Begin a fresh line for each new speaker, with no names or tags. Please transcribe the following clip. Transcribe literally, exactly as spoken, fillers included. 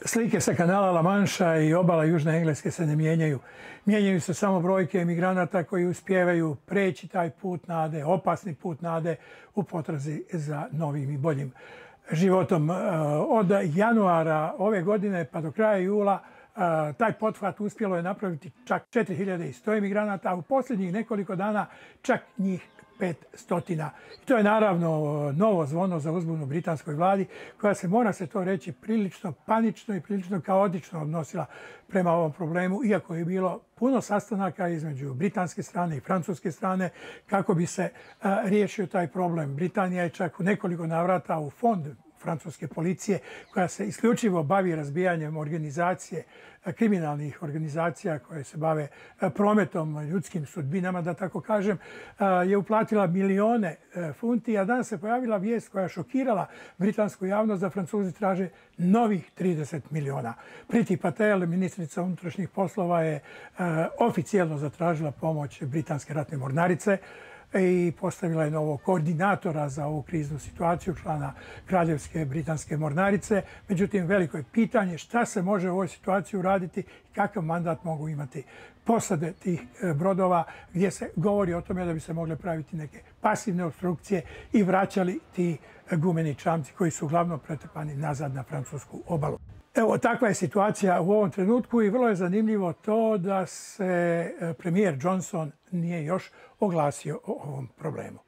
Slike sa kanala La Manša i obala Južne Engleske se ne mijenjaju. Mijenjaju se samo brojke emigranata koji uspijevaju preći taj put nade, opasni put nade u potrazi za novim i boljim životom. Od januara ove godine pa do kraja jula taj pothvat uspjelo je napraviti čak četiri hiljade sto emigranata, a u posljednjih nekoliko dana čak njih pet stotina. I to je naravno novo zvono za uzbunu britanskoj vladi, koja se, mora se to reći, prilično panično i prilično kaotično odnosila prema ovom problemu, iako je bilo puno sastanaka između britanske strane i francuske strane kako bi se a, riješio taj problem. Britanija je čak u nekoliko navrata u fond francuske policije, koja se isključivo bavi razbijanjem organizacije, kriminalnih organizacija koje se bave prometom ljudskim sudbinama, da tako kažem, je uplatila milione funti, a danas se pojavila vijest koja je šokirala britansku javnost da Francuzi traže novih trideset miliona. Priti Patel, ministrica unutrašnjih poslova, je oficijelno zatražila pomoć britanske ratne mornarice i postavila je novog koordinatora za ovu kriznu situaciju, člana Kraljevske britanske mornarice. Međutim, veliko je pitanje šta se može u ovoj situaciji uraditi i kakav mandat mogu imati posade tih brodova, gdje se govori o tome da bi se mogle praviti neke pasivne opstrukcije i vraćali ti gumeni čamci koji su uglavnom pretrpani nazad na francusku obalu. Evo, takva je situacija u ovom trenutku i vrlo je zanimljivo to da se premijer Johnson nije još oglasio o ovom problemu.